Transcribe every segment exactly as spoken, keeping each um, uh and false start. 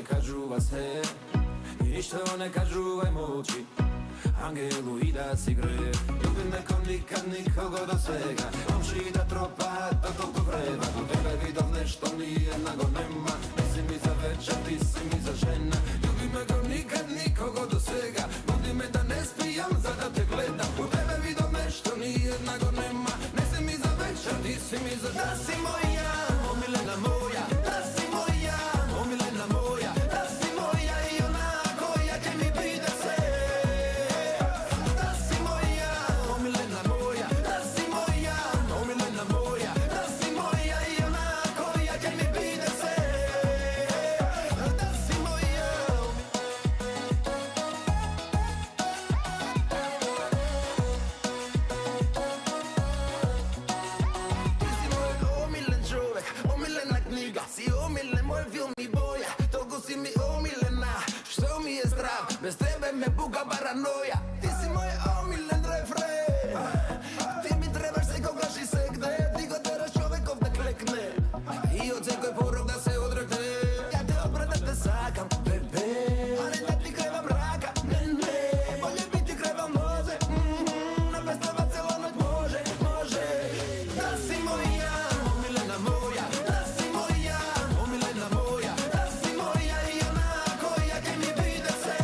тој кажува се и ништо не кажувај молчи. Ангелу и да си гре, љубиме ко никад никого до сега. Момши да тропаат, па толку време. До тебе видов нешто ниједна го нема. Не си ми за вечер, ти си ми за жена. Љубиме ко никад никого до сега. Буди ме да не спијам за да те гледам. До тебе видов нешто ниједна го нема. Не си ми за вечер, ти си ми за жена. Да си моја, омилена моја. Да си моја, омилена моја. Да си моја и она која ќе ми биде се. Без тебе ме буга параноја. Ти си мој омилен рефрен. Ти ми требаш секогаш и сегде. Ти го тераш човеков да клекне и од секој порок да се одрекне. Ја те обрат да те сакам, бебе, а не да ти кревам рака. Не, не, болje би ти кревал нозе. На пестава цела ноќ може, може. Да си моја, омилена моја. Да си моја, омилена моја. Да си моја и она која ќе ми биде се.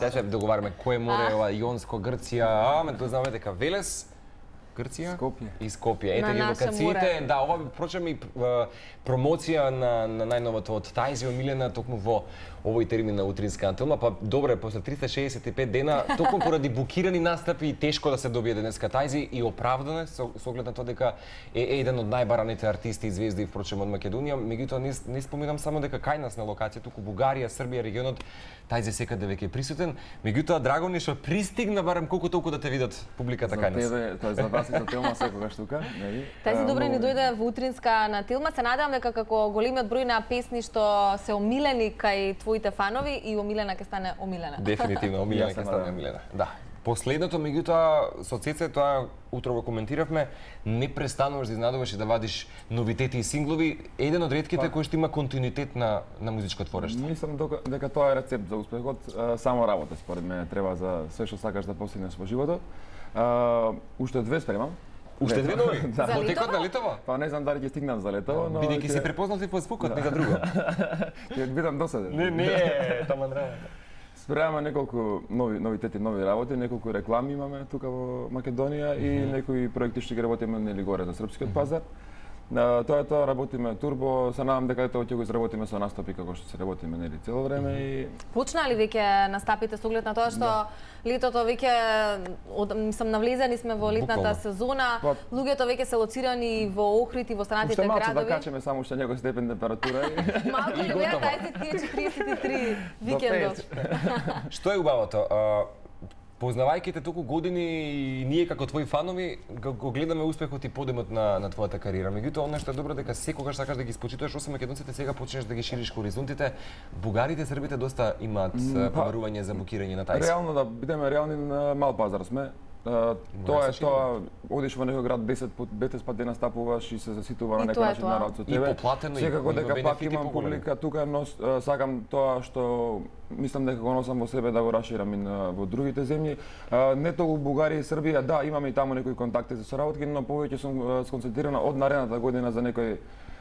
Сега ќе договараме кој море е ова Јонско, Грција, аме тоа знаме дека Велес, Грција Скопје. И Скопје. Ете ги локациите. Да, ова прочем и промоција на, на најновото од Тајзи омилена токму во овој термин на утринска антилма. Па добре, после триста шеесет и пет дена, токму поради букирани настапи и тешко да се добие денеска Тајзи и оправдано со, со оглед на тоа дека е, е еден од најбараните артисти и звезди впрочем од Македонија. Меѓутоа не, не споминам само дека кај нас на локација, туку Бугарија, Србија, регионот Тајзи секаде веќе е присутен. Меѓутоа драго ни што пристигна барем колку толку да те видат публиката кај нас. За тебе, тоа е за вас и за Телма секогаш тука, нели? Тајзи добре ни дојде во утринска на Телма. Се надевам дека како големиот број на песни што се омилени кај твоите фанови и омилена ќе стане омилена. Дефинитивно омилена ќе стане омилена. Да. Последното, меѓутоа, со Цеце, тоа утро го коментиравме, не престануваш да изнадуваш и да вадиш новитети и синглови, еден од ретките кој што има континуитет на на музичко творештво. Мислам дека тоа е рецепт за успехот, само работа според мене треба за све што сакаш да постигнеш во животот. Уште две спремам. Уште две нови? Да. Во текот на летово? Па не знам дали ќе стигнам за летово, но бидејќи се препознати по звукот, не за друго. Ќе бидам досаден. Не, не, таман нрава. Спремаме неколку нови новитети, нови работи, неколку реклами имаме тука во Македонија и некои проекти што ги работиме нели горе за српскиот пазар. На тоа е тоа, работиме турбо, се надам дека тоа ќе го изработиме со настапи како што се работиме нели цело време и Почна ли веќе настапите со оглед на тоа што да. Летото веќе од мислам навлезени сме во летната Буквално. сезона, Па, луѓето веќе се лоцирани во Охрид и во останатите уште малку градови. да качеме само уште некој степен температура и Малку ли беа тајзи тие четириесет и три викендот? Што е убавото? Познавајќи те толку години и ние како твои фанови го, го гледаме успехот и подемот на на твојата кариера. Меѓутоа, она што е добро дека секогаш сакаш да ги спочитуваш, освен македонците, сега почнеш да ги шириш хоризонтите. Бугарите, србите доста имаат па, побарување за букирање на Тајзи. Реално да бидеме реални, на мал пазар сме. Uh, тоа е тоа, одиш во некој град десет пат, петнаесет пат дена стапуваш и се заситува на некој начин народ со тебе. И поплатено, секако и дека пак имам публика тука, но uh, сакам тоа што мислам дека го носам во себе да го расширам и на, во другите земји. Uh, не толку Бугарија и Србија, да, имаме и таму некои контакти за соработки, но повеќе сум uh, сконцентрирана од наредната година за некој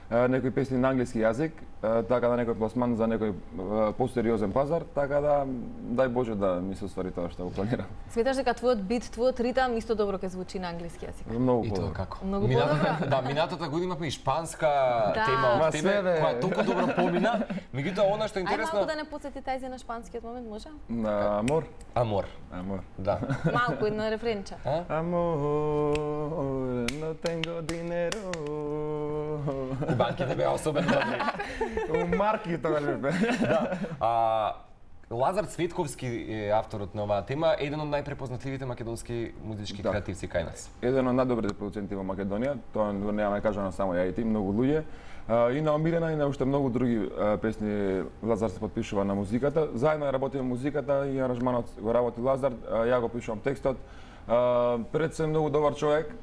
некои песни на англиски јазик, така да некој пласман за некој посериозен пазар, така да дај Боже да ми се оствари тоа што го планирам. Сметаш дека твојот бит, твојот ритам исто добро ќе звучи на англиски јазик? Многу и подобро. тоа како? Многу подобро. Да, минатата година имавме и шпанска Да. тема од тебе, све, бе. која толку добро помина. Меѓутоа она што е Ај интересно, малку да не потсети тајзе на шпанскиот момент, може? На амор. амор. Амор. Да. Малку едно рефренче. Amor, no tengo dinero. Кубанките беа особено добри. У марки тоа не бе. Да. А, Лазар Цветковски е авторот на оваа тема, еден од најпрепознатливите македонски музички Да. креативци кај нас. Еден од најдобрите продуценти во Македонија, тоа нема да кажа само ја и ти, многу луѓе. А, и на Омилена и на уште многу други а, песни Лазар се подпишува на музиката. Заедно ја работиме музиката и аранжманот го работи Лазар, а, ја го пишувам текстот. А, пред се многу добар човек.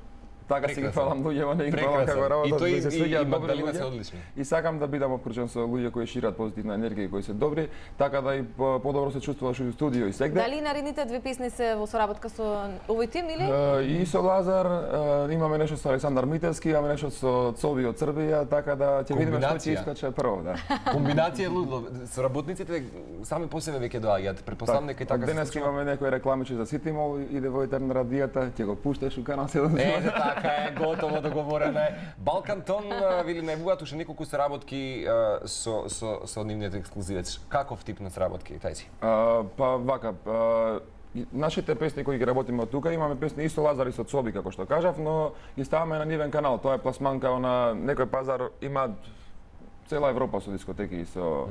Така си ги фалам луѓе, не ги фалам како работат, И тој да се и, и, свиѓаат и добри Магдалина се луѓе. одлични. И сакам да бидам окружен со луѓе кои шират позитивна енергија и кои се добри, така да и по- подобро се чувствуваш и у студио и сегде. Дали наредните две песни се во соработка со овој тим или? Uh, и со Лазар, uh, имаме нешто со Александар Мителски, имаме нешто со Цоби од Србија, така да ќе видиме што ќе Комбинација. искаче прво, да. Комбинација лудо. Соработниците сами по себе веќе доаѓаат. Претпоставам дека и така се Денес случува. имаме некои рекламичи за Ситимол, иде во етер на радијата, ќе го пушташ у канал седум. Е, така е, готово договорено е. Балкантон вели најавуваат уште неколку соработки а, со со со нивниот ексклузивец. Каков тип на соработки тајси? Uh, па вака, uh, и нашите песни кои ги работиме од тука, имаме песни и со Лазар и со Цоби, како што кажав, но ги ставаме на нивен канал. Тоа е пласманка на некој пазар, има цела Европа со дискотеки и со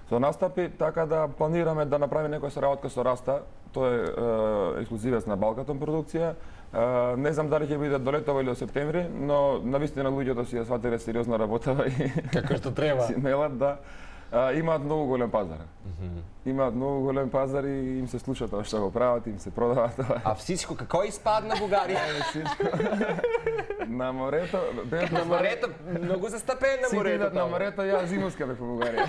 со настапи, така да планираме да направиме некоја соработка со Раста. Тоа е, е ексклузивец на Балкатон продукција. Е, не знам дали ќе биде до летово или до септември, но навистина луѓето си ја сватиле сериозно работава и Како што треба. си мелат да а, имаат многу голем пазар. Имаат многу голем пазар и им се слуша тоа што го прават, им се продава тоа. А всичко како испадна Бугарија? На морето, бев На морето, многу застапен на Сите морето. идат на таму. морето, ја зимуска бев во Бугарија.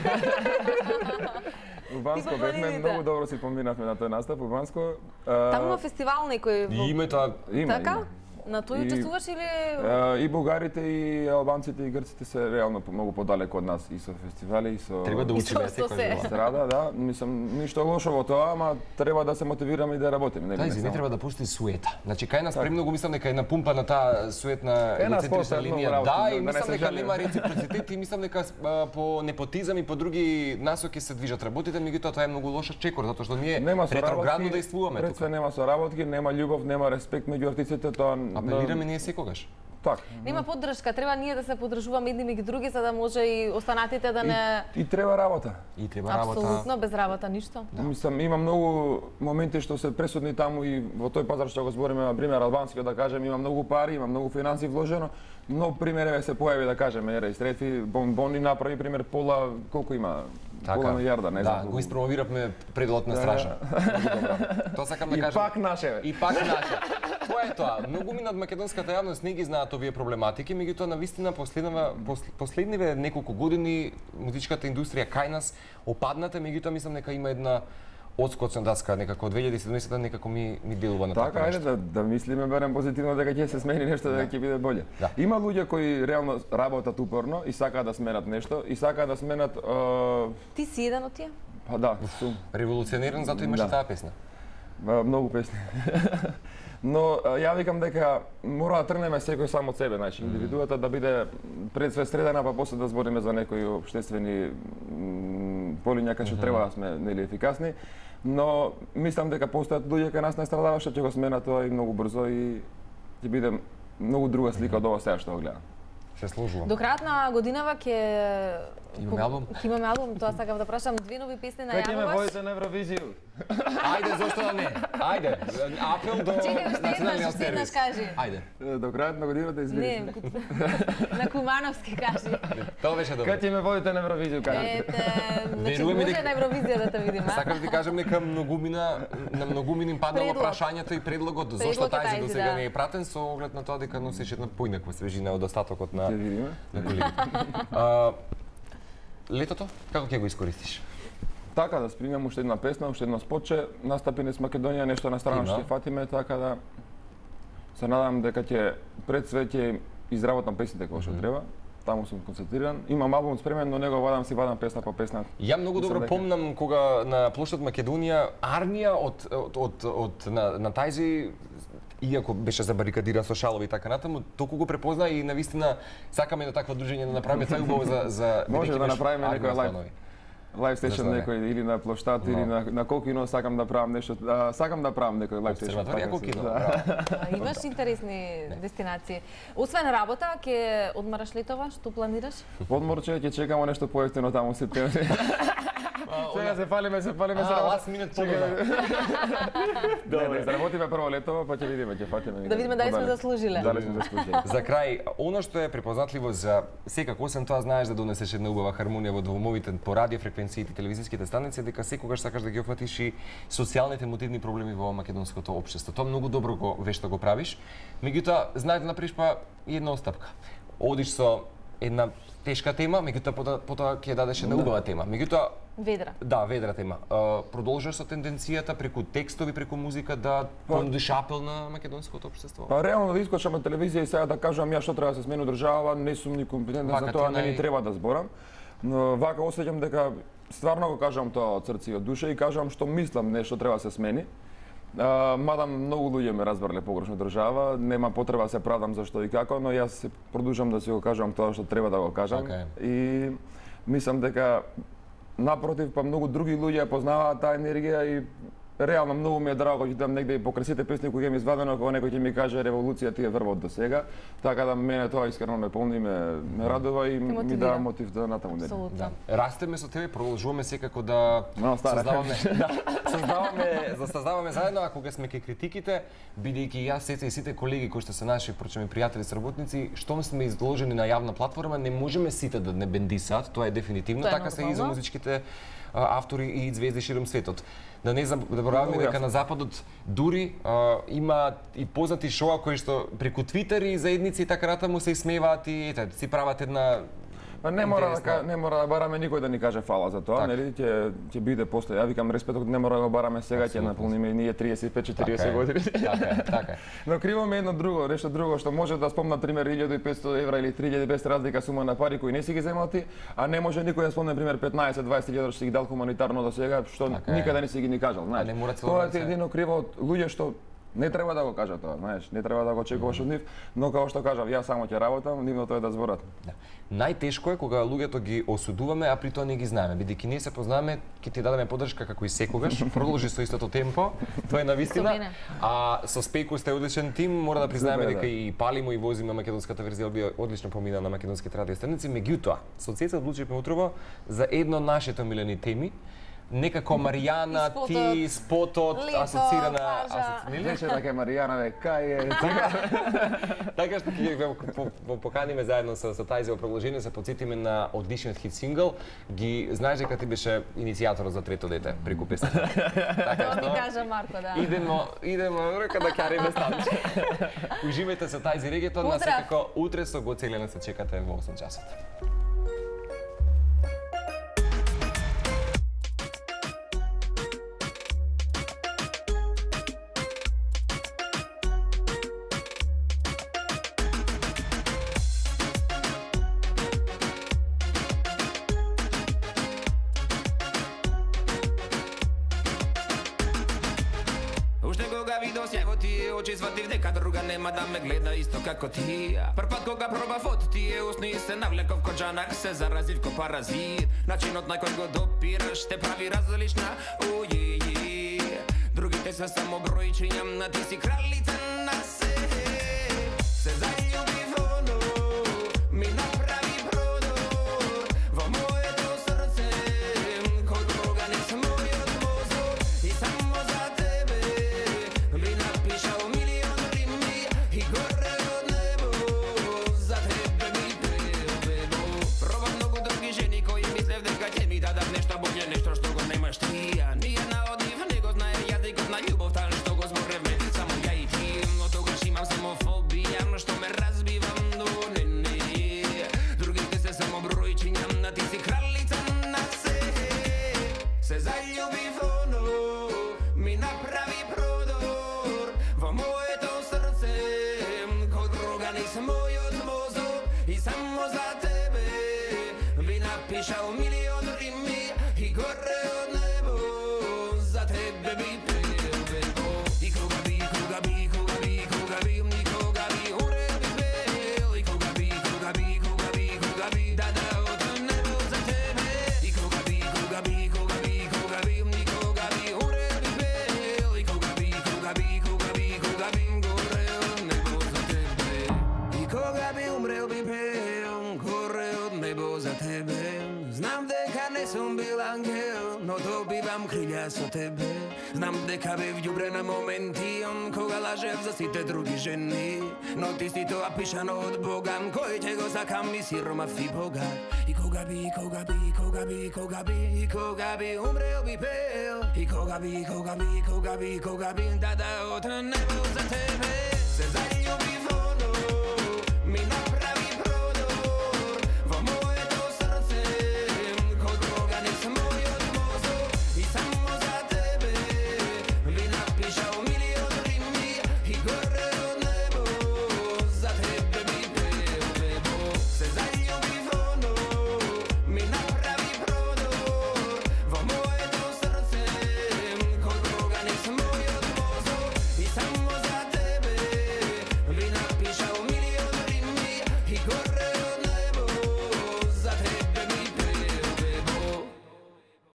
У Банско Ти по бевме, планините. многу добро си поминавме на тој настап у Банско. Таму има фестивал некој во... И име тоа Има, Така? има. На тој И- учествуваш или... Е, И бугарите, и албанците, и грците се реално многу подалеку од нас и со фестивали, и со... треба да И учиме со- со се. секој. Страда, да, мислам, ништо лошо во тоа, ама треба да се мотивираме и да работиме, нели? Тајзи не само- треба да пусти суета. Значи кај нас премногу мислам дека е напумпана таа суетна Е, нас егоцентрична постојат многу линија. работи, Да, да- и да не мислам се дека жалиме. нема реципроцитет и мислам дека а, по непотизам и по други насоки се движат работите, меѓутоа тоа е многу лоша чекор затоа што ние Нема ретроградно соработки, действуваме пред тука. све нема соработки, нема љубов, нема респект меѓу артистите, тоа... Апелираме ние секогаш. Така. Нема поддршка, треба ние да се поддржуваме едни меѓу други за да може и останатите да не... И, и треба работа. И треба работа. Апсолутно, без работа ништо. Да. Мислам, има многу моменти што се пресудни таму и во тој пазар што го збориме, на пример албанскиот, да кажем, има многу пари, има многу финанси вложено, но пример се појави да кажеме, ера Истретви, бонбони направи пример пола, колку има? Пола милиарда, не знам. Да, колку. го испромовиравме пределот на страша. Многу добро. Тоа сакам да И кажам. пак наше, бе. И пак наше. Тоа е тоа. Многу мина од македонската јавност не ги знаат овие проблематики, меѓутоа навистина последнава пос- последниве неколку години музичката индустрија кај нас опадната, меѓутоа мислам дека има една одскоцна даска, некако од две илјади и седумнаесета некако ми ми делува на Така, така ајде нешто. да, да мислиме барем позитивно дека ќе се смени нешто, дека ќе биде боле. Да. Има луѓе кои реално работат упорно и сакаат да сменат нешто и сакаат да сменат е, Ти си еден од тие? па да, сум Револуционерен, затоа имаше Да. таа песна. Ба, многу песни. Но а, ја викам дека мора да тргнеме секој сам од себе, значи индивидуата да биде пред све средена, па после да збориме за некои општествени м, полиња кај што треба да сме нели ефикасни. Но мислам дека постојат луѓе кај нас најстрадале што ќе го смена тоа и многу брзо и ќе биде многу друга слика од ова сега што го гледам. Се сложувам. До крајот на годинава ќе Имаме албум? Ќе имаме албум, тоа сакав да прашам, две нови песни Кај ќе ме најавуваш. воите на Евровизију? Ајде, зошто да не? Ајде, апел до националниот сервис. Кажи. Ајде. До крајот на годината извини. Не, на Кумановски кажи. Тоа беше добро. Кај ќе ме водите на Евровизија, кажете. Ете, значи Веруваме може дека- на Евровизија да те видиме, а? Сакам да ти кажам дека многумина на многумин им паднало Предлог. прашањето и предлогот зошто Предлог е тајзи тајзи, до сега да. не е пратен со оглед на тоа дека носиш една поинаква свежина од остатокот на Ќе видиме. на колегите. А, летото како ќе го искористиш? Така да спримам уште една песна, уште едно спотче, настапи низ Македонија, нешто на страна Има. што ќе фатиме, така да се надам дека ќе пред све ќе изработам песните кои што треба. Таму сум концентриран. Имам албум спремен, но него вадам си вадам песна по песна. Ја многу Мислам добро дека- помнам кога на площад Македонија армија од од од, од на, на тајзи иако беше забарикадиран со шалови и така натаму, толку го препозна и навистина сакаме едно такво дружење да направиме, тоа е убаво за за Може бидејќи да беше направиме армија некој лайв. станови. Лайв сешн Зашто не? некој или на площад или на на Колкино сакам да правам нешто, а, сакам да правам некој лайв сешн. Обсерваторија Колкино. Да. браво. А, Имаш интересни дестинации. Освен работа, ќе одмараш летова, што планираш? Одморче ќе чекамо нешто поевтино таму се септември. Сега се фалиме, се фалиме се А, работа. last minute понуда. Да, да изработиме прво летово, па ќе видиме, ќе фатиме. Да видиме дали сме подале. заслужиле. Дали сме заслужили. За крај, оно што е препознатливо за секако, освен тоа знаеш да донесеш една убава хармонија во домовите по радиофреквенциите и телевизиските станици, дека секогаш сакаш да ги опфатиш и социјалните мотивни проблеми во македонското општество. Тоа многу добро го вешто го правиш. Меѓутоа, знаеш да направиш па и една остапка. Одиш со една тешка тема, меѓутоа потоа, потоа ќе дадеш една убава тема. Меѓутоа, Ведра. да, ведра тема. А, продолжуваш со тенденцијата преку текстови, преку музика да понудиш апел на македонското општество? Па реално да искочам на телевизија и сега да кажам ја што треба да се смени држава, не сум ни компетентен Вака за ти тоа, е не ни нај- треба да зборам. Но вака осеќам дека стварно го кажам тоа од срце и од душа и кажам што мислам нешто треба да се смени. А, мада многу луѓе ме разбрале погрешно држава, нема потреба да се правдам за што и како, но јас се продолжам да си го кажам тоа што треба да го кажам. Така е. И мислам дека напротив, па многу други луѓе ја познаваат таа енергија и реално многу ми е драго ќе дам негде и покрај сите песни кои ќе ми извадено, кога некој ќе ми каже револуција ти е врвот до сега, така да мене тоа искрено ме полни, ме, ме радува и ми мотивира. дава мотив да натаму не. Апсолутно. Растеме со тебе, продолжуваме секако да Но, стара. создаваме, да, создаваме, да создаваме заедно, а кога сме кај критиките, бидејќи јас сеца и сите колеги кои што се наши прочеми пријатели сработници, штом сме изложени на јавна платформа, не можеме сите да не бендисат, тоа е дефинитивно, Тоа е така се и за нормално. музичките а, автори и звезди широм светот. Да не забораваме Многу дека јасно. на западот дури а, има и познати шоа кои што преку Твитер и заедници и така натаму се исмеваат и ете, си прават една Па не мора да интересна- ка- не мора да бараме никој да ни каже фала за тоа, Така. нели ќе ќе биде после. Ја викам респектот не мора да го бараме сега, ќе Апсолутно. наполниме и ние триесет и пет Така четириесет е, години. Така е, така е. Но криво ми е едно друго, нешто друго што може да спомна пример илјаду и петсто евра или три илјади и двесте разлика сума на пари кои не си ги земал ти, а не може никој да спомне пример петнаесет дваесет илјади што си ги дал хуманитарно до сега, што Така е. никаде не си ги ни кажал, знаеш. не мора цело Тоа време ти е се- едино криво од луѓе што не треба да го кажат тоа, знаеш, не треба да го очекуваш од нив, но како што кажав, јас само ќе работам, нивното е да зборат. Да. Најтешко е кога луѓето ги осудуваме, а при тоа не ги знаеме. Бидејќи ние се познаваме, ќе ти дадеме поддршка како и секогаш. Продолжи со истото темпо. Тоа е Со навистина. мене. А со Спејко сте одличен тим, мора да признаеме Супер, дека да. и палимо и возиме македонската верзија би одлично помина на македонските радиостаници. Меѓутоа, со Цеца одлучивме утрово за едно од нашите омилени теми. Некако Маријана, И спотот, ти, спотот, лето, асоцирана... плажа. асоци- нели? Рече дека Маријана ве кај е. Така што ќе ве по- по- поканиме заедно со, со тајзе продолжение, се подсетиме на одличниот хит сингл. Ги знаеш дека ти беше иницијаторот за трето дете преку песната. Така Тоа ми кажа Марко, да. идемо, идемо река да ќариме станче. Уживајте со тајзи регетон, на Поздрав! секако утре со Го Целена се чекате во осум часот. Уште кога видов сјај во тие очи, сватив дека друга нема да ме гледа исто како ти. Прв пат кога проба фото тие усни, се навлеков ко джанак, се заразив ко паразит. Начинот на кој го допираш те прави различна, ује. Другите се само бројчиња, на ти си кралица на се. Се заљубив оно, ми направи продор во моето срце, кој друга не се мојот мозок. И само i samo za tebe bi napišao milion rimi i gore od nebo za tebe bi peo bebo i koga bi, koga bi, koga bi, koga bi, nikoga bi umre bi peo i koga bi, koga bi, koga bi, koga bi da dao to nebo za tebe i koga bi, koga bi, koga bi, koga bi, nikoga bi umre bi peo i koga bi, koga bi, koga bi, koga bi gore od nebo za tebe i koga bi umreo bi peo gore od nebo za tebe znam deka ne sam bil angel no dobivam krilja so tebe znam deka bi vljubren na momenti on koga lažev za site drugi ženi no ti si to apišano od Bogan koji će go zakam i siromaf i bogat i koga bi, koga bi, koga bi, koga bi i koga bi umreo bi peo i koga bi, koga bi, koga bi, koga bi da dao to nebo za tebe